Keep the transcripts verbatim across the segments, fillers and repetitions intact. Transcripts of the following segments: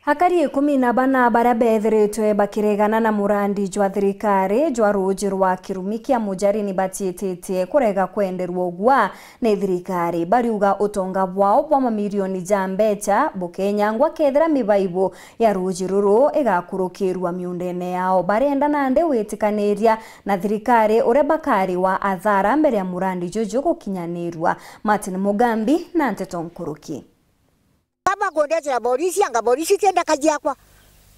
Akari ikumi na bana baria beethiritwe bakiregana na murandi jwa thirikari jwa ruuji rwa kirumi kia Mujari ni batiititie kurega kwenderwa ugwa ni thirikari. Bariuga utonga bwao bwa mamirioni ja mbecha bukenyangwa kethira mibaibu ya ruuji ruru igakurukirua miundene yao. Barenda nandi witikaniria na thirikari uria bakari wa athara mbere ya murandi juju gukinyanirua. Martin Mugambi na nteto nkuruki. Kaba kundetera borisi, anga borisi ti ndaka jiakwa.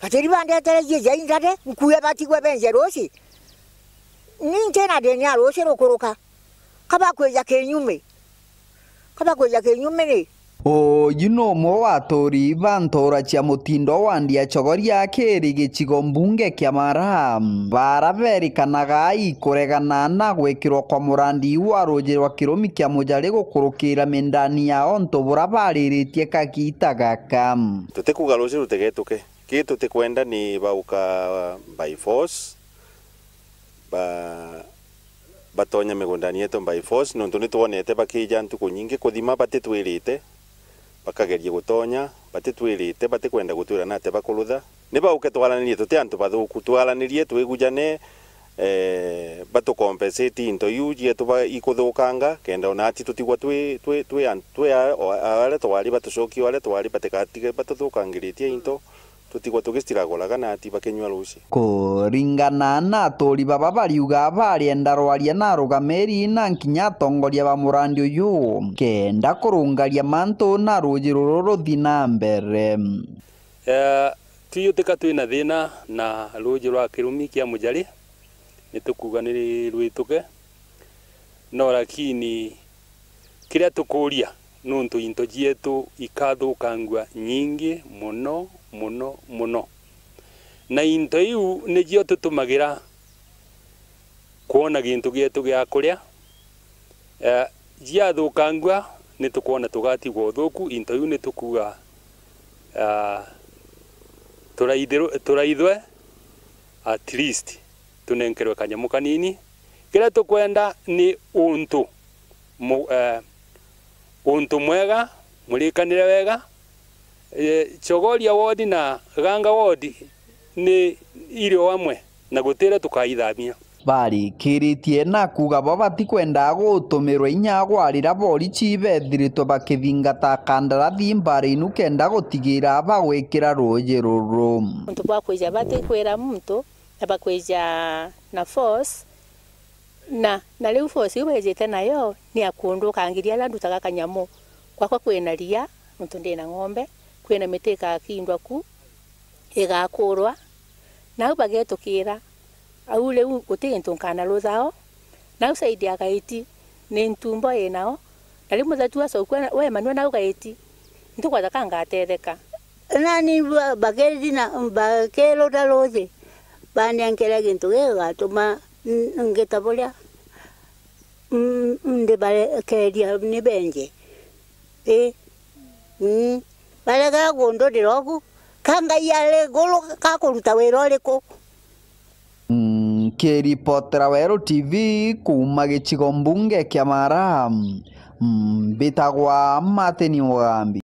Batiri bandetere cie cia intare, nkue batigwe benje ruuci. Ni ntina ndenia ruuci rukuruka. Kaba kwija kinyume. Kaba kwija kinyume ni. Uyu ni umwe wa aturi ba ntura cia mutindo wa Ndia Chogoria kiri gicigo mbunge kia Mara, bara berikanaga ikuregana na gwikirwa kwa murandi wa ruuji rwa kirumi kia Mujari gukurukira mindani yao ntu bura bariritie kagiita gaka. Tutikuga ruuji rutigetuke. Ki tutikwenda ni bauka by force, ba-, batonya migundani yetu by force, nontu nitwonete bakija ntuku nyingi kuthima batitwirite, bakageria gutonya, batitwirite, batikwenda gutwira nate bakurutha. Ni bauke twaranirie, tuti antu bathuku, twaranirie, twigujane, eh, batucompensate into iu cietu ba-, ikuthukanga, kenda ona ati tutigwa twi, twi, twi an-, twi a-, o-, aria twari batucokie, aria twari batigatige batuthukangiritie into. Tutigwa tugistiragulaga na ati bakinyua ruuci. Kuringana na aturi baba bariuga barienda rwaria na arugamiri na nkinya atongoria ba murandi uyu kenda kurungaria mantu na ruuji ruru ruthi na mbere. Eh, twiutika twina thina na ruuji rwa kirumi kia Mujari, nitukuuga ni rwituke, no lakini kiria tukuuria nuntu into cietu ikathukangua nyingi muno, muno, muno. Na into iu nicio tutumagira kwona gintu gietu gia kuria. Eh, ciathukangua, nitukwona tugatigwa uthuku, into iu nitukuuga, ah, turaithirwe-, turaithwe, at least tunenkerwe kanyamu kanini. Kiria tukwenda ni untu mu-, eh, untu mwega, murikanire wega. Eh, Chogoria ward na Ganga ward ni iri o amwe na gutiria tukaithamia. Barikiritie na kuuga bo batikwenda gutumirwa inya gwarira borichi bethiritwe bakithingata kandarathi mbara inu kenda gutigira bagwikira ruuji ruru. Untu bwa kwija batikwira muntu na bakwija na force, na, na riu force iu bejite nayo ni ya kundukangiria aria ndutaga kanyamu. Gwakwa kwina ria, nontu ndina ng'ombe, kwina miti ikakindwa ku, igakurwa, nau bagetukira, au riu guti gintu nkana ruthao, nau side ya Gaiti ni ntumbo inao, na riu muthatu acokua we manua nau Gaiti, ntikwona ka ngatetheka. Nani ba-, bakeri na, bakirura ruuji, banenkere gintu gigatuma n-, ngita buria, mm, ndibarekeria ni benje. Ii. Mm. Baregera kundurira ugu, ka Ngai ari iguru, kakuruta wira uriku? Mm, nkiripotera Weru T V kuuma gicigo mbunge kia Mara, mm, mbitagwa Martin Mugambi.